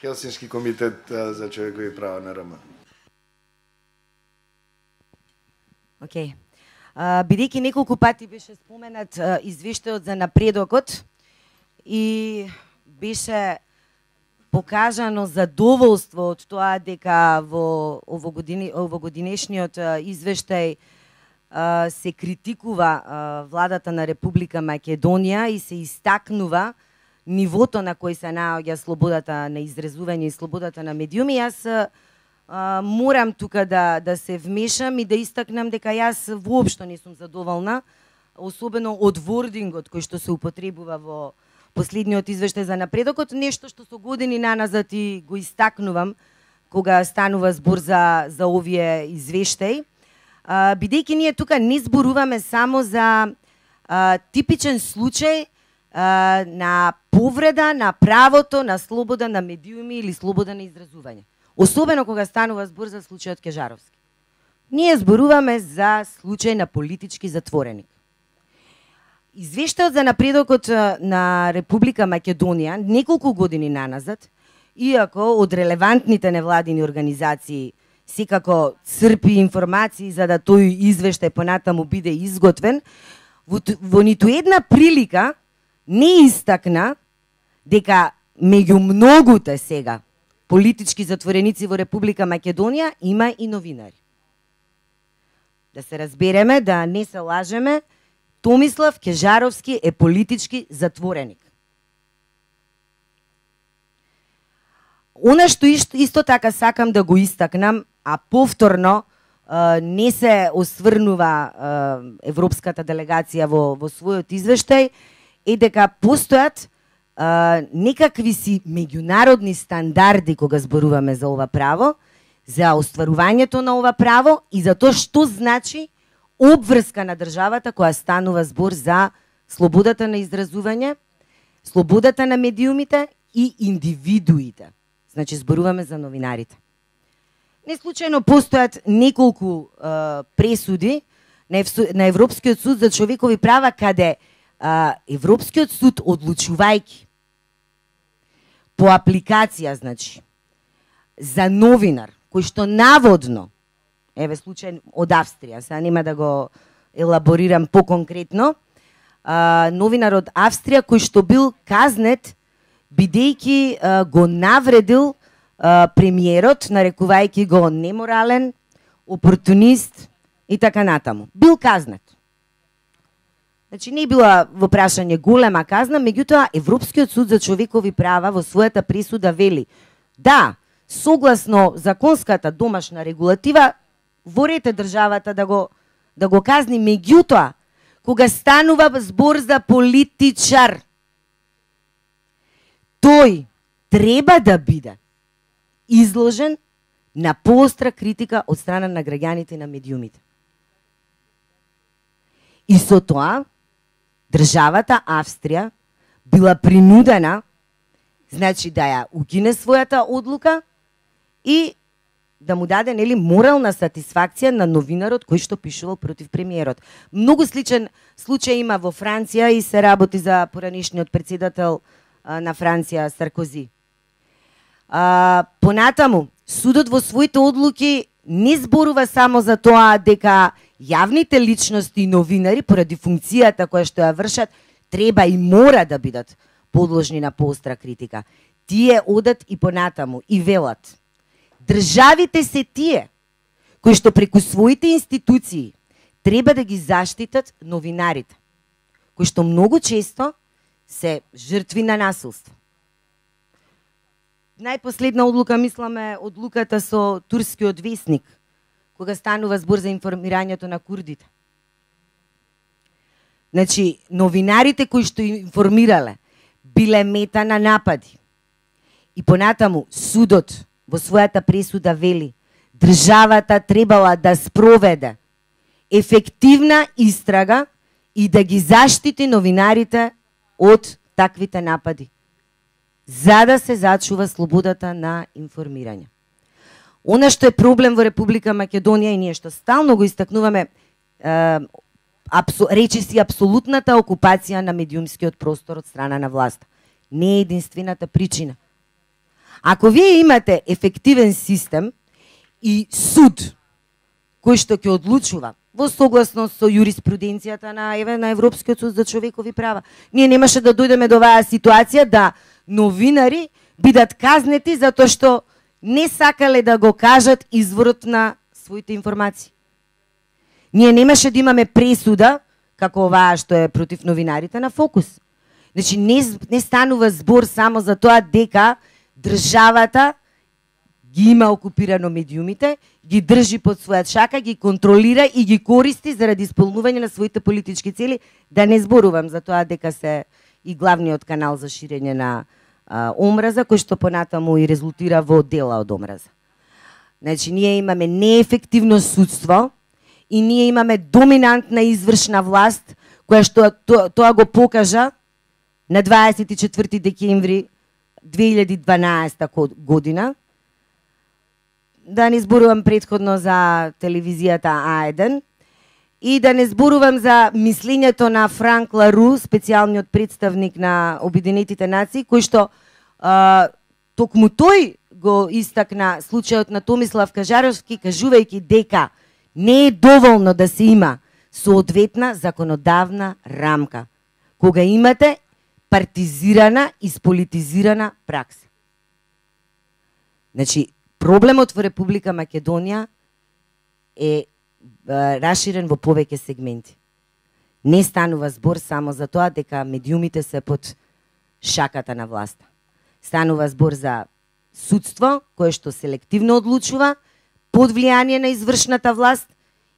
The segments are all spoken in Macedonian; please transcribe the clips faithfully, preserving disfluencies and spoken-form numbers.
Хелсински комитет за човекови права на РМ. Океј. Бидејќи неколку пати беше споменат а, извештајот за напредокот и беше покажано задоволство од тоа дека во овогодини, овогодинешниот извештај а, се критикува а, владата на Република Македонија и се истакнува нивото на кој се наоѓа слободата на изразување и слободата на медиуми. Јас а, морам тука да, да се вмешам и да истакнам дека јас воопшто не сум задоволна, особено од вордингот кој што се употребува во последниот извештај за напредокот, нешто што со години наназад и го истакнувам кога станува збор за, за овие извештаи. А, бидејќи ние тука не зборуваме само за а, типичен случај а, на повреда на правото на слобода на медиуми или слобода на изразување. Особено кога станува збор за случајот Кежаровски. Ние зборуваме за случај на политички затвореник. Извештајот за напредокот на Република Македонија неколку години наназад, иако од релевантните невладини организации секако црпи информации за да тој извештај понатаму биде изготвен, во, во ниту една прилика не истакна дека меѓу многуте сега политички затвореници во Република Македонија има и новинари. Да се разбереме, да не се лажеме, Томислав Кежаровски е политички затвореник. Она што исто, исто така сакам да го истакнам, а повторно а, не се осврнува а, европската делегација во, во својот извештај, е дека постојат а, некакви си меѓународни стандарди кога зборуваме за ова право, за остварувањето на ова право и за тоа што значи обврска на државата која станува збор за слободата на изразување, слободата на медиумите и индивидуите. Значи зборуваме за новинарите. Не случајно постојат неколку а, пресуди на, Ев, на Европскиот суд за човекови права каде а, Европскиот суд одлучувајќи по апликација, значи, за новинар кој што наводно, еве случај од Австрија, сега нема да го елаборирам поконкретно, а, новинар од Австрија кој што бил казнет бидејќи а, го навредил а, премиерот, нарекувајќи го неморален, опортунист и така натаму. Бил казнет. Значи не била во прашање голема казна, меѓутоа Европскиот суд за човекови права во својата присуда вели да, согласно законската домашна регулатива, во ред е државата да го да го казни, меѓутоа кога станува збор за политичар, тој треба да биде изложен на поостра критика од страна на граѓаните и на медиумите. И со тоа државата Австрија била принудена, значи да ја укине својата одлука и да му даде нели морална сатисфакција на новинарот кој што пишувал против премиерот. Многу сличен случај има во Франција и се работи за поранишниот председател а, на Франција Саркози. А, понатаму, судот во своите одлуки не зборува само за тоа дека јавните личности и новинари поради функцијата која што ја вршат треба и мора да бидат подложни на поостра критика. Тие одат и понатаму и велат: државите се тие кои што преку своите институции треба да ги заштитат новинарите, кои што многу често се жртви на насилство. Најпоследна одлука, мисламе, одлуката со турскиот весник, кога станува збор за информирањето на курдите. Значи, новинарите кои што информирале биле мета на напади. И понатаму судот во својата пресуда вели: државата требала да спроведе ефективна истрага и да ги заштити новинарите од таквите напади, за да се зачува слободата на информирање. Она што е проблем во Република Македонија и ние што стално го истакнуваме, е, апсу, речиси апсолутната окупација на медиумскиот простор од страна на власта. Не е единствената причина. Ако вие имате ефективен систем и суд кој што ќе одлучува во согласност со юриспруденцијата на еве на Европскиот суд за човекови права, ние немаше да дојдеме до оваа ситуација да новинари бидат казнети затоа што не сакале да го кажат изворот на своите информации. Ние немаше да имаме пресуда како оваа што е против новинарите на Фокус. Значи не, не станува збор само за тоа дека државата ги има окупирано медиумите, ги држи под својат шака, ги контролира и ги користи заради исполнување на своите политички цели, да не зборувам за тоа дека се и главниот канал за ширење на а, омраза, кој што понатаму и резултира во дела од омраза. Значи, ние имаме неефективно судство и ние имаме доминантна извршна власт, која што тоа, тоа го покажа на дваесет и четврти декември две илјади и дванаесета година. Да не зборувам претходно за телевизијата А еден и да не зборувам за мислењето на Франк Лару, специјалниот представник на Обединетите нации, кој што а, токму тој го истакна случајот на Томислав Кажаровски, кажувајќи дека не е доволно да се има соодветна законодавна рамка, кога имате партизирана и сполитизирана пракса. Значи, проблемот во Република Македонија е раширен во повеќе сегменти. Не станува збор само за тоа дека медиумите се под шаката на власта. Станува збор за судство кое што селективно одлучува под влијание на извршната власт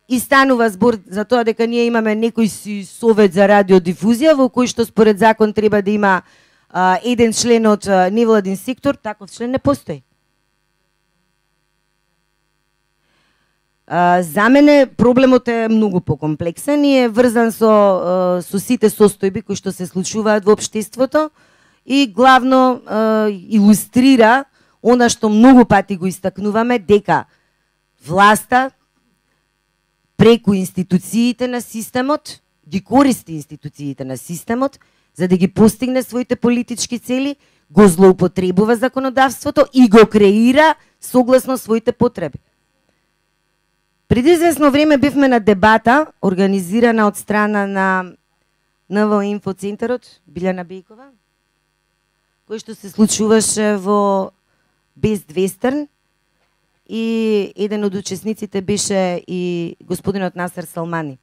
и станува збор за тоа дека ние имаме некој си совет за радиодифузија во кој што според закон треба да има а, еден член од а, невладин сектор, таков член не постои. А, за мене проблемот е многу покомплексен и е врзан со, а, со сите состојби кои што се случуваат во општеството и главно а, илустрира она што многу пати го истакнуваме, дека власта преку институциите на системот ги користи институциите на системот за да ги постигне своите политички цели, го злоупотребува законодавството и го креира согласно своите потреби. Преди известно време бевме на дебата организирана од страна на Н В Инфо Центарот Билјана Бејкова, кој што се случуваше во Best Western и еден од учесниците беше и господинот Насер Салмани.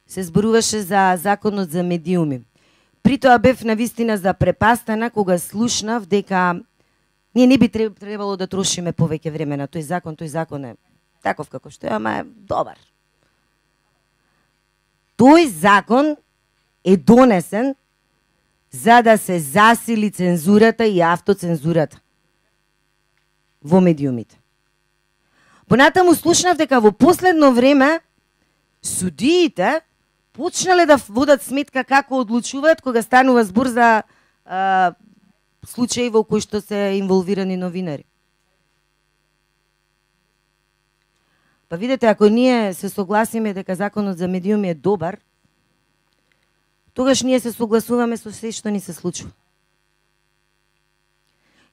Се зборуваше за законот за медиуми. При тоа бев навистина запрепастена кога слушнав дека ние не би требало да трошиме повеќе време на тој закон, тој закон е таков како што е, ама е добар. Тој закон е донесен за да се засили цензурата и автоцензурата во медиумите. Понатаму слушнав дека во последно време судиите почнале да водат сметка како одлучуваат кога станува збор за а, случаи во кои што се инволвирани новинари. Па видете, ако ние се согласиме дека законот за медиуми е добар, тогаш ние се согласуваме со се што ни се случува.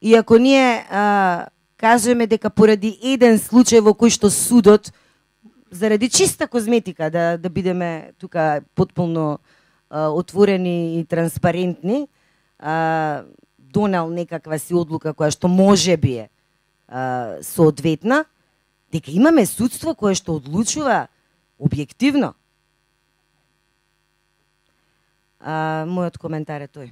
И ако ние а, кажеме дека поради еден случај во кој што судот, заради чиста козметика, да, да бидеме тука потполно а, отворени и транспарентни, а, донел некаква си одлука која што може би е а, соодветна, дека имаме судство кое што одлучува објективно. А, мојот коментар е тој.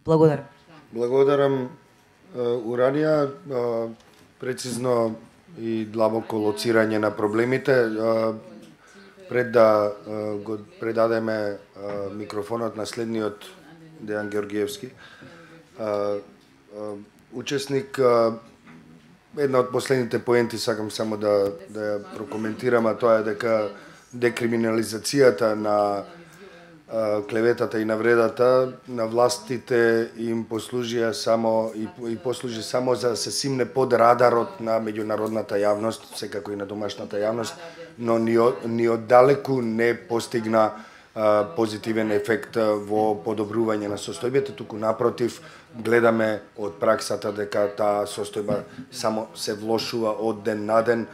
Благодарам. Благодарам, Уранија, прецизно и длабоко лоцирање на проблемите. Пред да го предадеме микрофонот на следниот Дејан Георгиевски, учесник, една од последните поенти сакам само да да ја прокоментирам, а тоа е дека декриминализацијата на а, клеветата и навредата на властите им послужија само и, и послужи само за да се симне под радарот на меѓународната јавност, секако и на домашната јавност, но ни, ни оддалеку не постигна позитивен ефект во подобрување на состојбата, туку напротив, гледаме од праксата дека таа состојба само се влошува од ден на ден,